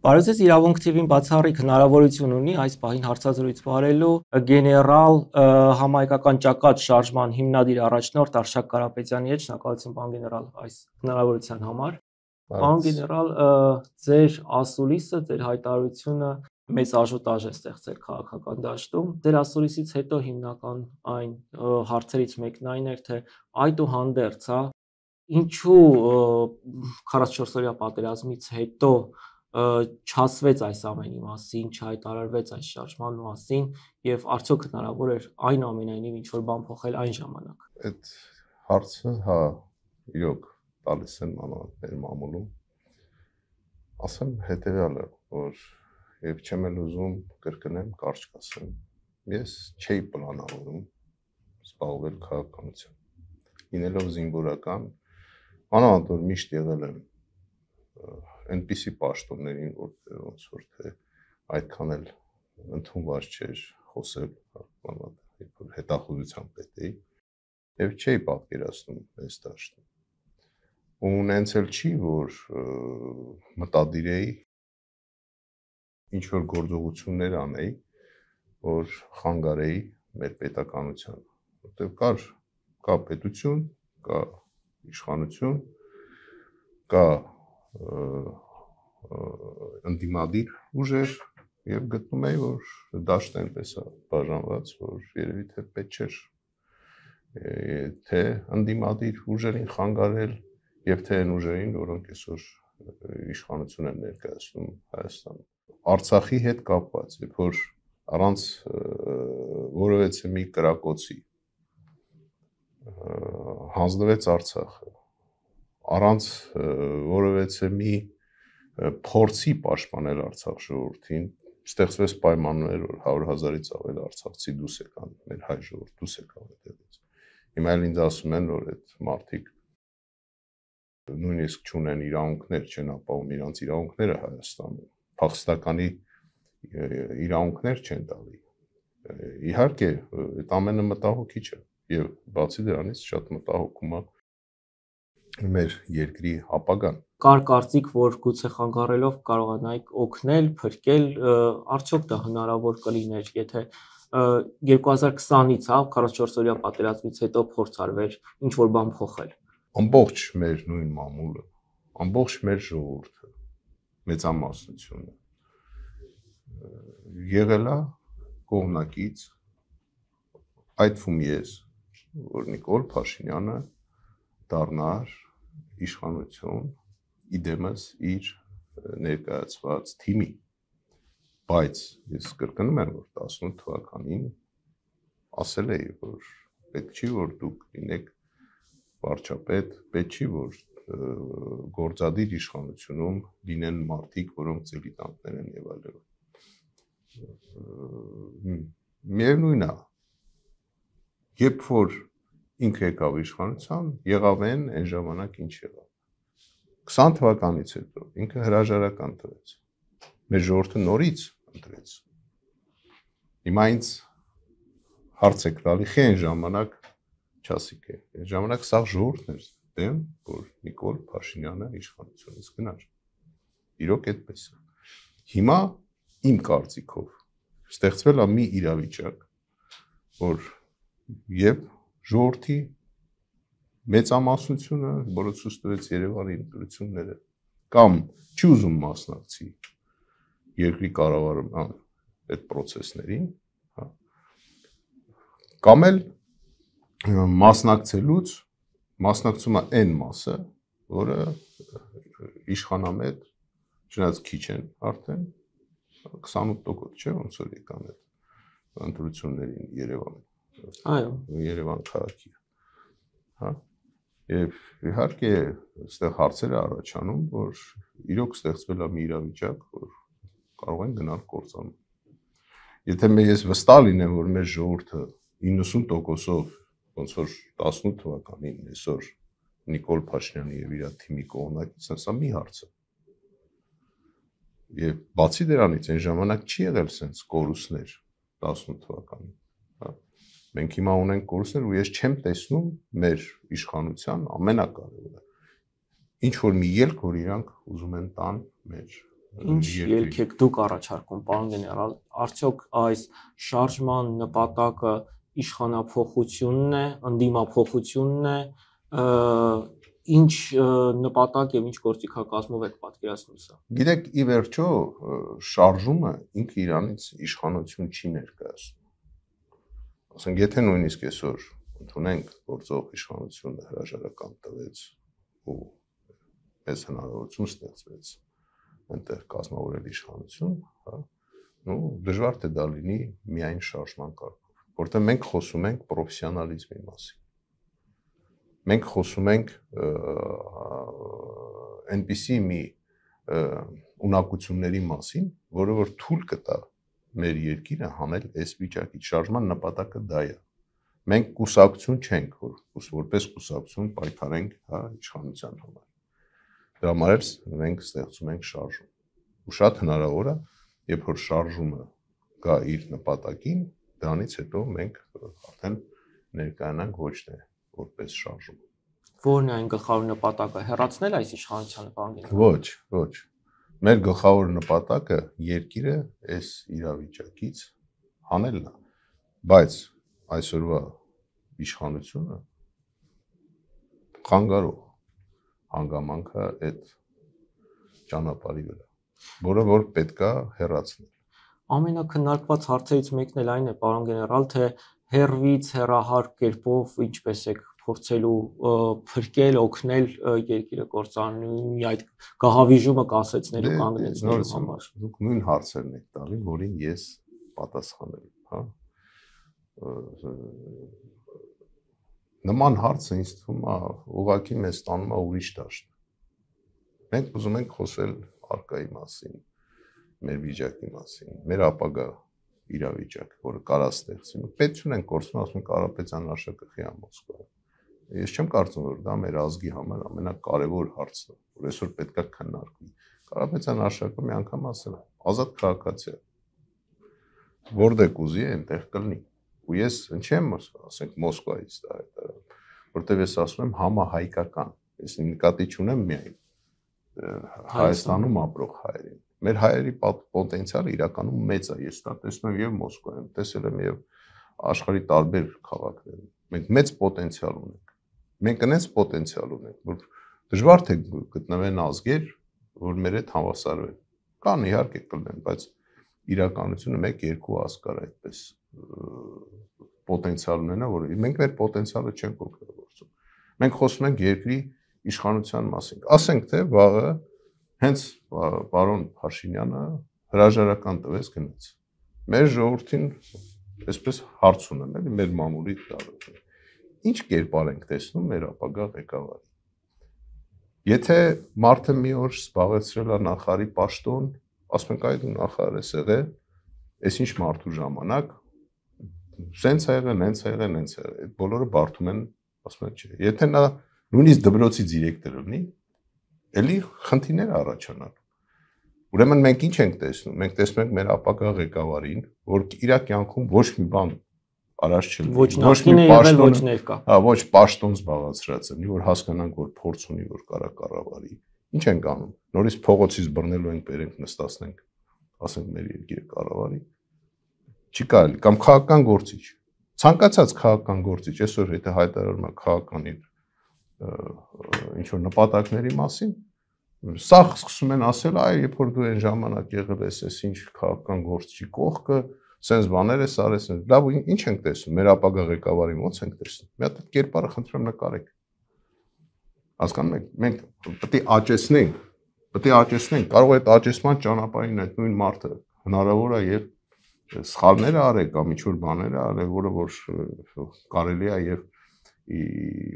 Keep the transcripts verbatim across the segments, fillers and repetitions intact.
Բարոյցես իրավունք թիվին բացառիկ հնարավորություն ունի այս պահին հարցազրույց վարելու գեներալ համահայկական ճակատ շարժման հիմնադիր առաջնորդ Արշակ Կարապետյանի հետ, շնորհակալություն պարոն գեներալ այս հնարավորության համար։ Պարոն գեներալ, ձեր ասուլիսը, ձեր հայտարարությունը մեծ աժոտաժ է ստեղծել քաղաքական դաշտում։ Ձեր ասուլիսից հետո հիմնական այն հարցերից մեկն այն էր, թե այդուհանդերձ, հա, ինչու քառասունչորս օրյա պատերազմից հետո չասվեց այս ամենի մասին, չհայտարարվեց այս շարժման մասին եւ արդյոք հնարավոր էր այնուամենայնիվ ինչ որ բան փոխել այն ժամանակ։ Այդ հարցը, հա, իրոք տալիս են մանավանդ մեր մամուլում։ Ասեմ հետեւյալը, որ եւ չեմ էլ ուզում կրկնեմ, կարճ կասեմ։ Ես չէի պլանավորում զբաղվել քաղաքականությամբ։ Լինելով զինվորական, մանավանդ որ միշտ եղել եմ այնպիսի պաշտոններին, որտեղ ոնց որ թե այդքան էլ ընդունված չէր խոսել, երբ որ հետախուզության պետ էի, եւ չէի պատկերացնում այս դաշտը։ Ու նենց էլ չի, որ մտադիր էի ինչ որ գործողություններ անեի, որ խանգարեի մեր պետականությանը, որտեղ կար կա պետություն, կա իշխանություն, կա ընդդիմադիր ուժեր եւ գտնում էի, որ դաշտը այնպես է բաժանված, որ երևի թե պետք չէր թե ընդդիմադիր ուժերին խանգարել եւ թե այն ուժերին, որոնք այսօր իշխանություն են ներկայացնում Հայաստանում։ Արցախի հետ կապված, երբ որ առանց որևէ մի կրակոցի հանձնվեց Արցախը, առանց որևէ մի փորձի պաշտպանել Արցախ ժողովրդին, ստեղծվեց պայմաններ, որ հարյուր հազարից ավել արցախցի դուրս եկան, մեր հայ ժողովուրդ դուրս եկավ այդտեղից։ Հիմա էլ ինձ ասում են, որ այդ մարդիկ նույնիսկ չունեն իրավունքներ, չեն ապահովում իրանց իրավունքները Հայաստանում, փախստականի իրավունքներ չեն տալի։ Իհարկե, այդ ամենը մտահոգիչ է եւ բացի դրանից շատ մտահոգում է մեր երկրի ապագան։ Կար կարծիք, որ գուցե խանգարելով կարողանայիք օգնել, փրկել, արդյոք դա հնարավոր կլիներ, եթե երկու հազար քսանից, հա, քառասունչորս օրյա պատերազմից հետո փորձ արվեր ինչ որ բան փոխել։ Ամբողջ մեր նույն մամուլը, ամբողջ մեր ժողովուրդը, մեծամասնությունը եղել է կողմնակից, այդ թվում ես, որ Նիկոլ Փաշինյանը դառնար իշխանություն իդեմս իր ներկայացված թիմի, բայց ես կրկնում եմ, որ տասնութ թվականին ասել էի, որ պետք չի, որ դուք լինեք վարչապետ, պետք չի, որ գործադիր իշխանությունում լինեն մարդիկ, որոնք դիլետանտներ են եւ այլն։ Միևնույն է, երբ որ ինքը եկավ իշխանության, եղավ են այն ժամանակ ինչ եղավ։ քսան թվականից հետո ինքը հրաժարական տվեց։ Մեր ժողովուրդը նորից ընտրեց։ Հիմա ինձ հարց եք տալի, խի այն ժամանակ չասիք է։ Այն ժամանակ սա ժողովուրդն էր դեմ, որ Նիկոլ Փաշինյանը իշխանությունից գնար։ Իրոք այդպես է։ Հիմա իմ կարծիքով ստեղծվել է մի իրավիճակ, որ եւ ժողովրդի մեծամասնությունը, որը ցույց տվեց Երևանի ընտրությունները, կամ չի ուզում մասնակցի երկրի կառավարման այդ process-ներին, հա, կամ էլ մասնակցելուց մասնակցում է այն մասը, որը իշխանամետ, չնայած քիչ են արդեն, քսանութ տոկոս չէ, ոնց որ եկան այդ ընտրություններին Երևան։ Այո, Երևան քաղաքի, հա, եւ իհարկե այստեղ հարցեր է առաջանում, որ իրոք ստեղծվել է մի իրավիճակ, որ կարող են գնալ կործանում։ Եթե ես վստահ լինեմ, որ մեր ժողովուրդը իննսուն տոկոսով ոնց որ տասնութ թվականին այսօր Նիկոլ Փաշինյանի եւ իր թիմի կողմնակից, սա մի հարց է։ Եվ բացի դրանից այն ժամանակ չի եղել sense կորուստներ տասնութ թվականին, հա։ Մենք հիմա ունենք կորուստներ ու ես չեմ տեսնում մեր իշխանության ամենակարևորը ինչ որ մի ելք, որ իրանք ուզում են տան մեր Ինչ ելք եք դուք առաջարկում, պարոն գեներալ, արդյոք այս շարժման նպատակը իշխանափոխությունն է, ընդդիմափոխությունն է, ինչ նպատակ եւ ինչ գործիքակազմով եք պատկերացնում սա։ Գիտեք, ի վերջո շարժումը ինքը իրանից իշխանություն չի ներկայացնում։ Ասենք, եթե նույնիսկ այսօր ընդունենք գործող իշխանությունը հրաժարական տվեց ու մեզ հնարավորություն ստեղծվեց այնտեղ կազմավորել իշխանություն, հա, ու դժվար թե դա լինի միայն շարժման կարգով, որտեղ մենք խոսում ենք պրոֆեսիոնալիզմի մասին։ Մենք խոսում ենք այնպիսի մի ունակությունների մասին, որը որ թույլ կտա մեր երկիրը հանել այս վիճակից։ Շարժման նպատակը դա է։ Մենք կուսակցություն չենք, որ որպես կուսակցություն պայքարենք, հա, իշխանության համար։ Դրա համար մենք ստեղծում ենք շարժում։ Ու շատ հնարավոր է, երբ որ շարժումը գա իր նպատակին, դրանից հետո մենք արդեն ներկայանանք ոչ թե որպես շարժում։ Որն է այն գլխավոր նպատակը, հեռացնել այս իշխանությանը, պարոն գեներալ։ Ոչ, ոչ։ Մեր գլխավոր նպատակը երկիրը այս իրավիճակից հանելն է, բայց այսօրվա իշխանությունը խանգարող հանգամանքը այդ ճանապարհի վրա, որը որ պետքա հեռացնել։ Ամենակննարկված հարցերից մեկն էլ այն է, պարոն գեներալ, թե հեռվից հեռահար կերպով ինչպես եք փորձելու փրկել, օգնել երկիրը կործանելու այդ գահավիժումը կասեցնելու կանգնեցնելու համար։ Դուք նույն հարցերն եք տալի, որին ես պատասխանել եմ, հա։ Նման հարցը ինձ թվում է ուղղակի մեզ տանում է ուրիշ դաշտ։ Մենք ուզում ենք խոսել արկայի մասին, մեր վիճակի մասին, մեր ապագա իրավիճակը, որը կարա ստեղծի։ Պետություն ենք կորցնում, ասում ենք Կարապետյան աշակերտի Մոսկվա։ Ես չեմ կարծում, որ դա մեր ազգի համար ամենակարևոր հարցն է, որ այսօր պետքա քննարկվի։ Կարապետյան աշակերտը մի անգամ ասել է, ազատ քաղաքացի է։ Որտեղ կուզի այնտեղ կլինի։ Ու ես չեմ ասենք Մոսկվայից դա հայտարարում, որտեղ ես ասում եմ համահայկական։ Ես նկատի չունեմ միայն Հայաստանում ապրող հայերին։ Մեր հայերի պոտենցիալը իրականում մեծ է։ Ես դա տեսնում եմ եւ Մոսկվայում, տեսել եմ եւ աշխարհի տարբեր քաղաքներում։ Մենք մեծ պոտենցիալ ունենք։ Մենք այնպես պոտենցիալ ունենք, որ դժվար թե գտնվեն ազգեր, որ մեր հետ հավասարվեն։ Կան իհարկե կլինեն, բայց իրականությունը մեկ երկու ազգ կար այդպես պոտենցիալ ունենա, որ մենք մեր պոտենցիալը չենք օգտագործում։ Մենք խոսում ենք երկրի իշխանության մասին։ Ասենք թե վաղը հենց պարոն Փաշինյանը հրաժարական տվեց գնաց։ Մեր ժողովրդին այսպես հարց ունեն, էլի մեր մամուլի տարածքում։ Ինչ կերպար ենք տեսնում մեր ապագա ղեկավարի։ Եթե մարդը մի օր զբաղեցրել է նախարարի պաշտոն, ասում ենք այդ նախարարը եղել, այսինչ մարդու ժամանակ սենց ա եղել, նենց ա եղել, նենց ա եղել, այդ բոլորը բարդում են, ասում են չէ։ Եթե նա նույնիսկ դպրոցի դիրեկտոր լինի, էլի խնդիրներ առաջանալու։ Ուրեմն մենք ինչ ենք տեսնում։ Մենք տեսնում ենք մեր ապագա ղեկավարին, որ իր կյանքում ոչ մի բան առաջ չլինի, ոչ մի պաշտոն, ոչ ներկա։ Հա, ոչ պաշտոն զբաղացրած լինի, որ հասկանանք, որ փորձ ունի, որ կարա կառավարի։ Ինչ ենք անում։ Նորից փողոցից բռնելու ենք, բերենք նստացնենք, ասենք մեր երկիրը կառավարի։ Չի կարելի, կամ քաղաքական գործիչ։ Ցանկացած քաղաքական գործիչ, այսօր եթե հայտարարում է քաղաքական իր ինչ որ նպատակների մասին, սա սկսում են ասել, այ երբ որ դու այն ժամանակ եղել ես, այս ինչ քաղաքական գործի կողքը, սենց բաներ ես արել, սենց, լավ, ինչ ենք տեսնում, մեր ապագա ղեկավարի ո՞նց ենք տեսնում։ Մի հատ կերպարը խնդրեմ նկարեք։ Հասկանում եք, մենք պետք է աճեցնենք, պետք է աճեցնենք, կարող է այդ աճեցման ճանապարհին այդ նույն մարդը հնարավոր է եւ սխալներ արել կամ ինչ որ բաներ արել, որը որ կարելի է եւ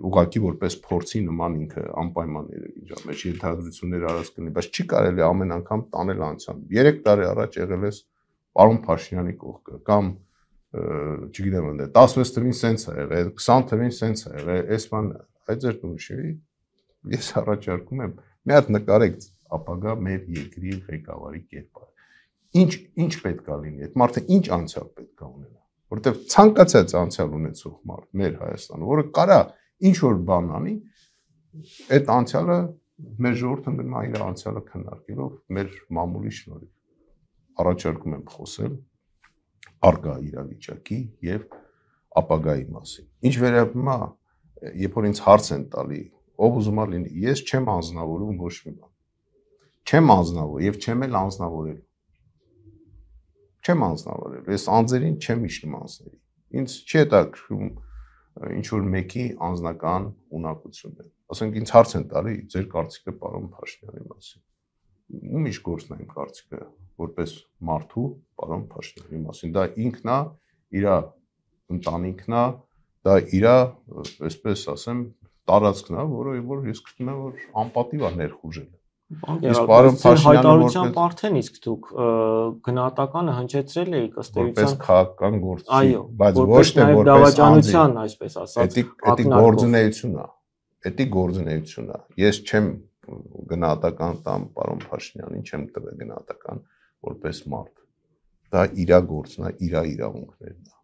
ուղղակի որպես փորձի նման ինքը անպայման իր մեջ ենթադրություններ արած կլինի, բայց չի կարելի ամեն անգամ տանել անցան։ երեք տարի առաջ եղել ես պարոն Փաշինյանի կողքը կամ չգիտեմ ընդ տասնվեց թվին սենց ա եղել, քսան թվին սենց ա եղել, այս բանը, այդ ձեր տունշի ես առաջարկում եմ մի հատ նկարեք ապագա մեր երկրի ղեկավարի կերպարը։ Ինչ ինչ պետք է լինի, այդ մարդը ինչ անցյալ պետք է ունենա, որովհետև ցանկացած անցյալ ունեցող մարդ մեր Հայաստանը, որը կարա ինչ որ բան անի, այդ անցյալը Մեր ժողովուրդը գնում է իր անցյալը քննարկելով մեր մամուլի շնորհիվ։ Առաջարկում եմ խոսել արկա իրավիճակի եւ ապագայի մասին։ Ինչ վերաբերում է, երբ որ ինձ հարց են տալի, ով ուզում է լինի, ես չեմ անձնավորում ոչ մի բան։ Չեմ անձնավոր եւ չեմ էլ անձնավորել։ Չեմ անձնավորել, ես անձերին չեմ իջնում անձների։ Ինձ չի հետաքրքրում ինչ որ մեկի անձնական ունակությունները։ Ասենք ինձ հարց են տալի ձեր կարծիքը պարոն Փաշինյանի մասին։ Ում իշ գործն է իմ կարծիքը որպես մարդու պարոն Փաշինյանի մասին։ Դա ինքն է, իր ընտանիքն է, դա իր, այսպես ասեմ, տարածքն է, որը որ ես գտնում եմ որ անպատիվ է ներխուժել։ Իսկ պարոն Փաշինյանը արդեն իսկ դուք գնահատականը հնչեցրել եք ըստ էության որպես քաղաքական գործիչ, բայց ոչ թե որպես դավաճանության, այսպես ասած, էդի գործունեություն է։ Էդի գործունեություն է։ Ես չեմ գնահատական տամ պարոն Փաշինյանին, չեմ տվել գնահատական որպես մարդ։ Դա իր գործն է, իր իրավունքներն է։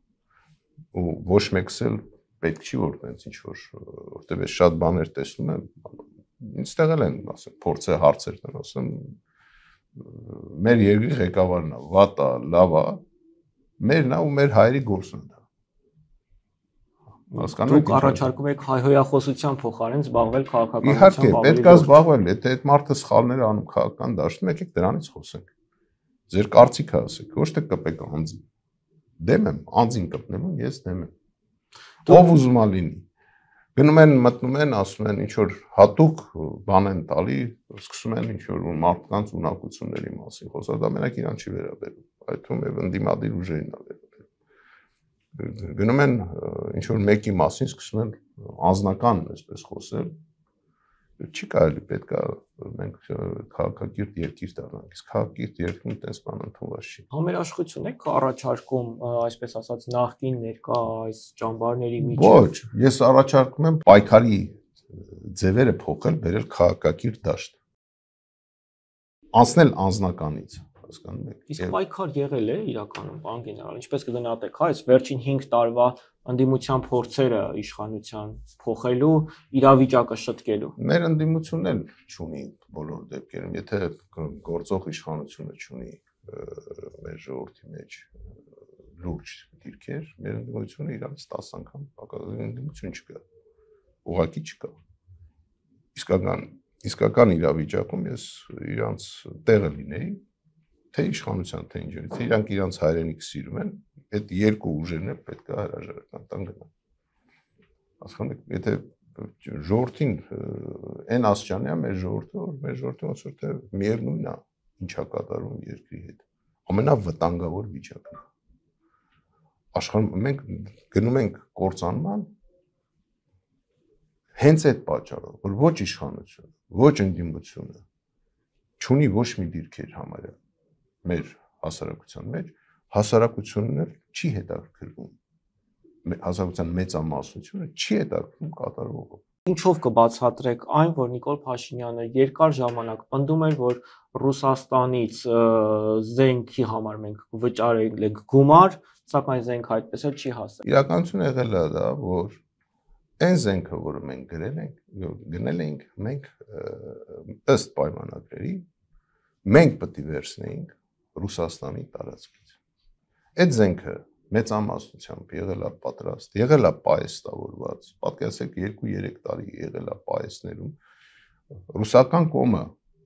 Ու ոչ մեկս էլ պետք չի որ տենց ինչ որ, որտեղ ես շատ բաներ տեսնում եմ, ինձ տեղել են, ասեմ, փորձը հարցեր տան, ասեմ, մեր երկրի ղեկավարն է, վատ է, լավ է, մերն է ու մեր հայերի գործն է դա։ Դուք առաջարկում եք հայհոյախոսության փոխարեն զբաղվել քաղաքականությամբ։ Իհարկե, պետք է զբաղվել, եթե այդ մարդը սխալներ է անում քաղաքական դաշտում, եկեք դրանից խոսենք։ Ձեր կարծիքը ասեք, ոչ թե կպեք անձին։ Դեմ եմ, անձին կպնելուն ես դեմ եմ։ Ով ուզում է լինի։ Գնում են, մտնում են, ասում են ինչ որ հատուկ բան են տալի, սկսում են ինչ որ մարդկանց ունակությունների մասին խոսալ, դա մենակ իրան չի վերաբերում, այդ թվում է ընդդիմադիր ուժերին է վերաբերում։ Գնում են ինչ որ մեկի մասին սկսում են անձնական, այսպես խոսել, չի կարելի, պետք է մենք քաղաքակիրթ երկիր դառնանք, իսկ քաղաքակիրթ երկրում այդպես բան ընդունված չի։ Համերաշխություն եք առաջարկում, այսպես ասած, նախկին ներկա այս ճամբարների միջև։ Ոչ, ես առաջարկում եմ պայքարի ձևերը փոխել, բերել քաղաքակիրթ դաշտ։ Անցնել անձնականից, հասկանում եք։ Իսկ պայքար եղել է իրականում, պարոն գեներալ, ինչպես կգնահատեք, հա, այս վերջին հինգ տարվա ընդդիմության փորձերը իշխանության փոխելու, իրավիճակը շտկելու։ Մեր ընդդիմությունն էլ չունի բոլոր դեպքերում, եթե գործող իշխանությունը չունի մեր ժողովրդի մեջ լուրջ դիրքեր, մեր ընդդիմությունը իրանց տասը անգամ պակասական ընդդիմություն չկա, ուղղակի չկա։ Իսկական իսկական իրավիճակում ես իրանց տեղը լինեի, թե իշխանության, թե ինչ, թե իրանք իրանց հայրենիք սիրում են, այդ երկու ուժերն էլ պետք է հրաժարական տան գնան։ Հասկանում եք, եթե ժողովրդին այն աստիճանի է մեր ժողովուրդը, որ մեր ժողովրդը ոնց որ թե միևնույնն է, ինչա կատարվում երկրի հետ։ Ամենավտանգավոր վիճակն է։ Աշխարհում մենք գնում ենք կործանման հենց այդ պատճառով, որ ոչ իշխանությունը, ոչ ընդդիմությունը չունի ոչ մի դիրքեր համարյա մեր հասարակության մեջ, հասարակությունն էլ չի հետաքրքրվում, հասարակության մեծամասնությունը չի հետաքրքրվում կատարվողը։ Ինչով կբացատրեք այն, որ Նիկոլ Փաշինյանը երկար ժամանակ պնդում էր, որ Ռուսաստանից զենքի համար մենք վճարել ենք գումար, սակայն զենքը այդպես էլ չի հասել։ Իրականությունը եղել է դա, որ այն զենքը, որը մենք գրել ենք, գնել ենք, մենք ըստ պայմանագրերի մենք պետք է վերցնեինք Ռուսաստանի տարածքից։ Այդ զենքը մեծամասնությամբ եղել է պատրաստ, եղել է պայեստավորված, պատկերացրեք երկու-երեք տարի եղել է պայեստներում, ռուսական կողմը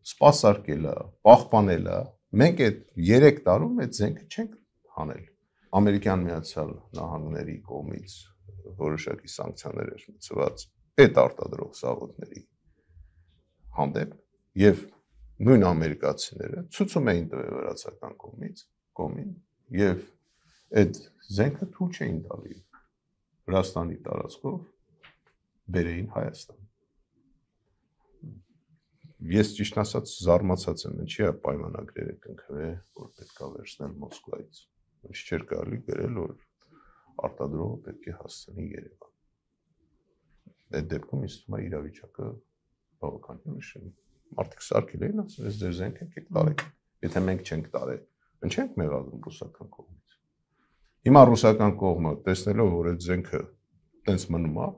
սպասարկել է, պահպանել է, մենք այդ երեք տարում այդ զենքը չենք հանել։ Ամերիկյան Միացյալ Նահանգների կողմից որոշակի սանկցիաներ էր մտցված այդ արտադրող զավոդների հանդեպ եւ նույն ամերիկացիները ցույցում էին տվել վրացական կողմից կողմին եւ այդ զենքը թույլ չէին տալի Վրաստանի տարածքով բերեին Հայաստան։ Ես ճիշտ ասած զարմացած եմ, ինչի է պայմանագրերը կնքվել, որ պետք է վերցնել Մոսկվայից։ Ինչ չէր կարելի գրել, որ արտադրողը պետք է հասցնի Երևան։ Այդ դեպքում ինձ թվում է իրավիճակը բավականին ուշ է։ Մարդիկ սարքել էին, ասում ես ձեր զենքը եք տարեք։ Եթե մենք չենք տարել, ինչ ենք մեղադրում ռուսական կողմից։ Հիմա ռուսական կողմը տեսնելով, որ այդ զենքը տենց մնում է,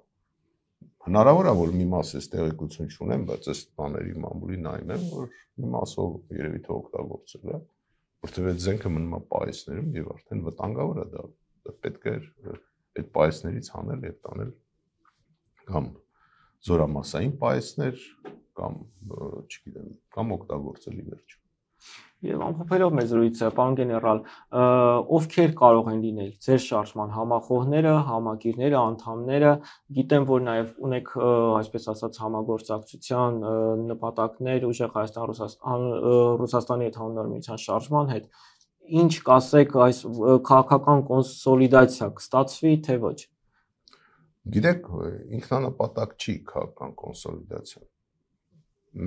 Հնարավոր է որ մի մաս էս տեղեկություն չունեմ, բայց այս բաների մամուլի նայում եմ, որ մի մասով երևի թե օգտագործել է, որտեղ այդ զենքը մնում է պայեսներում եւ արդեն վտանգավոր է դա։ Պետք է այդ պայեսներից հանել եւ տանել կամ զորամասային պայեսներ կամ չգիտեմ, կամ օգտագործել ի վերջո։ Եվ ամփոփելով մեր զրույցը, պարոն գեներալ, ովքեր կարող են լինել ձեր շարժման համախոհները, համակիրները, անդամները, գիտեմ, որ նաև ունեք, այսպես ասած, համագործակցության նպատակներ ուժեղ Հայաստան Ռուսաստանի հետ հանուն միության շարժման հետ, ինչ կասեք, այս քաղաքական կոնսոլիդացիա կստացվի, թե ոչ։ Գիտեք, ինքնանպատակ չի քաղաքական կոնսոլիդացիա։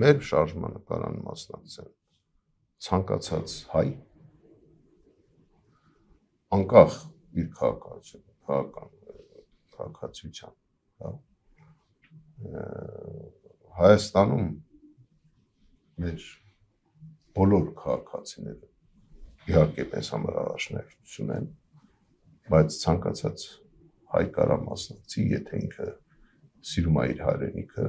Մեր շարժմանը կարան մասնակցել ցանկացած հայ, անկախ իր քաղաքացիության, քաղաքական քաղաքացիության, հա։ Հայաստանում մեր բոլոր քաղաքացիները իհարկե մեզ համար առաջնահերթություն են, բայց ցանկացած հայ կարա մասնակցի, եթե ինքը սիրում է իր հայրենիքը,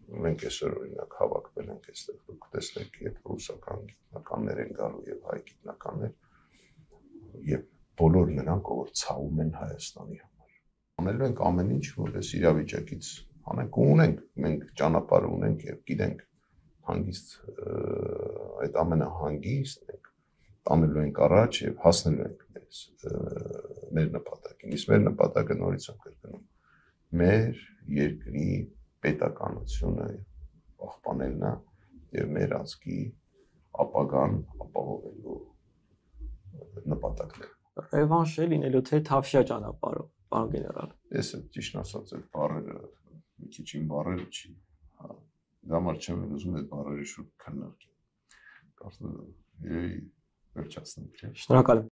մենք այսօր օրինակ հավաքվել ենք այստեղ, դուք տեսնեք, երբ ռուսական գիտնականներ են գալու եւ հայ գիտնականներ, եւ բոլոր նրանք, ով ցավում են Հայաստանի համար։ Անելու ենք ամեն ինչ, որ այս իրավիճակից անենք ու ունենք, մենք ճանապարհ ունենք եւ գիտենք հանգիստ այդ ամենը հանգիստ ենք, տանելու ենք առաջ եւ հասնելու ենք մեզ մեր նպատակին։ Իսկ մեր նպատակը նորից եմ կրկնում, մեր երկրի պետականությունը պահպանելն է եւ մեր ազգի ապագան ապահովելու նպատակն է։ Ռևանշ է լինելու թե թավշյա ճանապարհով, պարոն գեներալ։ Ես ճիշտ ասած այդ բառերը մի քիչ իմ բառերը չի, հա, դա համար չեմ ուզում այդ բառերի շուրջ քննարկել։ Կարծում եմ, երևի վերջացնենք, չէ՞։ Շնորհակալ եմ։